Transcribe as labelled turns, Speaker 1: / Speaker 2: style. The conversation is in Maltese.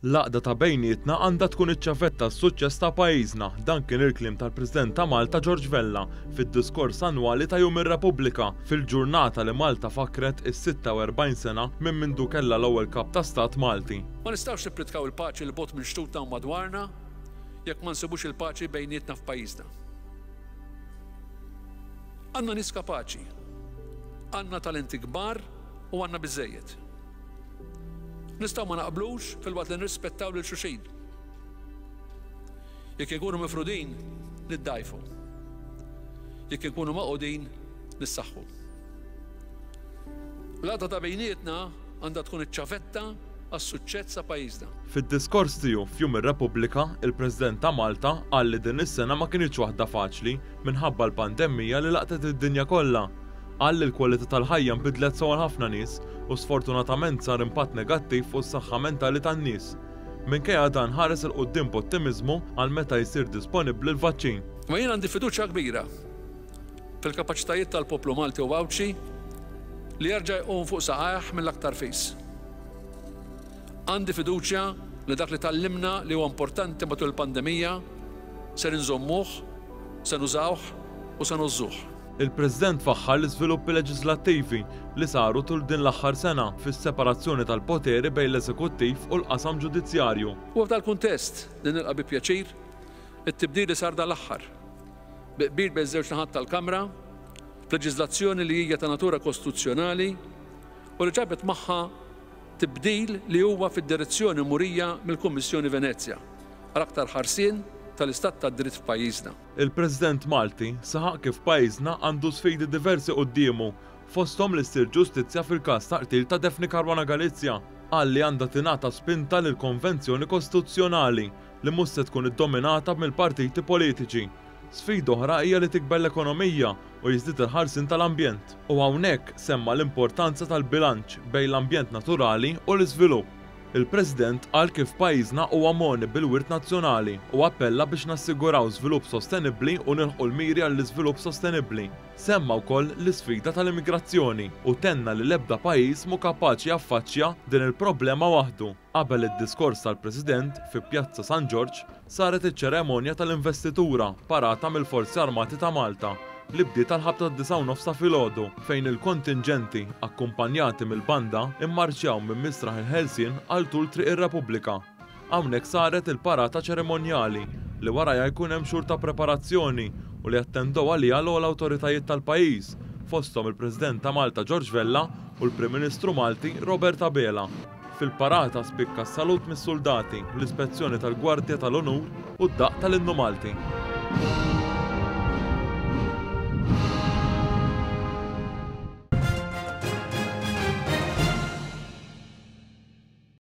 Speaker 1: L-għaqda ta' bejnietna għandha tkun iċ-ċavetta għas-suċċess ta' pajjiżna, dan kien il-kliem tal-President ta' Malta George Vella fid-diskors annwali ta' Jum ir-Repubblika, fil-ġurnata li Malta fakkret is-46 sena minn mindu kellha l-ewwel Kap ta' Stat Malti.
Speaker 2: Ma nistgħux nippritkaw il-paċi 'l bogħod minn xtutna u madwarna jekk ma nsibux il-paċi bejnietna f'pajjiżna. Għandna nies kapaċi, għandna talenti kbar u għandna biżżejjed. Nistgħu ma naqblux filwaqt li nirrispettaw lil xulxin. Jekk inkunu mifrudin, niddgħajfu. Jekk inkunu magħqudin, nissaħħu. L-għaqda ta' bejnietna għandha tkun iċ-ċavetta għas-suċċess ta' pajjiżna.
Speaker 1: Fid-diskors tiegħu f'Jum ir-Repubblika, il-President ta' Malta qal li din is-sena ma kinitx waħda faċli minħabba l-pandemmija li laqtet id-dinja kollha. Qal li l-kwalità tal-ħajja nbidlet sew għal ħafna nies u sfortunatament sar impatt negattiv fuq is-saħħa mentali tan-nies. Minkejja dan ħares 'il quddiem b'ottimiżmu għal meta jsir disponibbli l-vaċċin.
Speaker 2: Imma jien għandi fiduċja kbira fil-kapaċitajiet tal-poplu Malti u Għawdxi li jerġa' jqum fuq saqajh mill-aktar fis. Għandi fiduċja li dak li tgħallimna li huwa importanti matul il-pandemija ser inżommuh, se nużawh u se ngħożżuh.
Speaker 1: Il-President faħħar l-iżviluppi leġiżlattivi li saru tul din l-aħħar sena fis-separazzjoni tal-poteri bejn l-eżekuttiv u l-qasam ġudizzjarju.
Speaker 2: Huwa f'dal-kuntest li nilqa' bi pjaċir it-tibdil li sar dal-aħħar, bi qbil bejn iż-żewġ naħat tal-Kamra, f'leġiżlazzjoni li hija ta' natura kostituzzjonali u li ġabet magħha tibdil li huwa fid-direzzjoni murija mill-Kummissjoni Venezja għal aktar ħarsien tal-istat tad-dritt f'pajjiżna.
Speaker 1: Il-President Malti saħaq kif pajjiżna għandu sfidi diversi quddiemu, fosthom li ssir ġustizzja fil-każ ta' qtil ta' Daphne Caruana Galizia. Qal li għandha tingħata spinta lill-Konvenzjoni Kostituzzjonali li mhux se tkun iddominata mill-partiti politiċi. Sfida oħra hija li tikber l-ekonomija u jiżdied il-ħarsien tal-ambjent. U hawnhekk semma l-importanza tal-bilanċ bejn l-ambjent naturali u l-iżvilupp. Il-President qal kif pajjiżna huwa mogħni bil-wirt nazzjonali u appella biex nassiguraw żvilupp sostenibbli u nilħqu l-miri għall-iżvilupp sostenibbli. Semma wkoll l-isfida tal-immigrazzjoni u tenna li l-ebda pajjiż mhu kapaċi jaffaċċja din il-problema waħdu. Qabel id-diskors tal-President, fi Pjazza San Ġorġ, saret iċ-ċeremonja tal-investitura parata mill-Forzi Armati ta' Malta li bdiet għall-ħabta tad-disgħa u nofs ta' filgħodu fejn il-kontinġenti, akkumpanjati mill-banda, immarċjaw minn Misraħ il-Ħelsien għal tul Triq ir-Repubblika. Hawnhekk saret il-parata ċerimonjali li warajha jkun hemm xhur ta' preparazzjoni u li attendew għaliha l-ogħla awtoritajiet tal-pajjiż, fosthom il-President ta' Malta George Vella u l-Prim Ministru Malti Robert Abela. Fil-parata spikka s-salut mis-suldati, l-ispezzjoni tal-Gwardja tal-Unur u d-daqq tal-Innu Malti.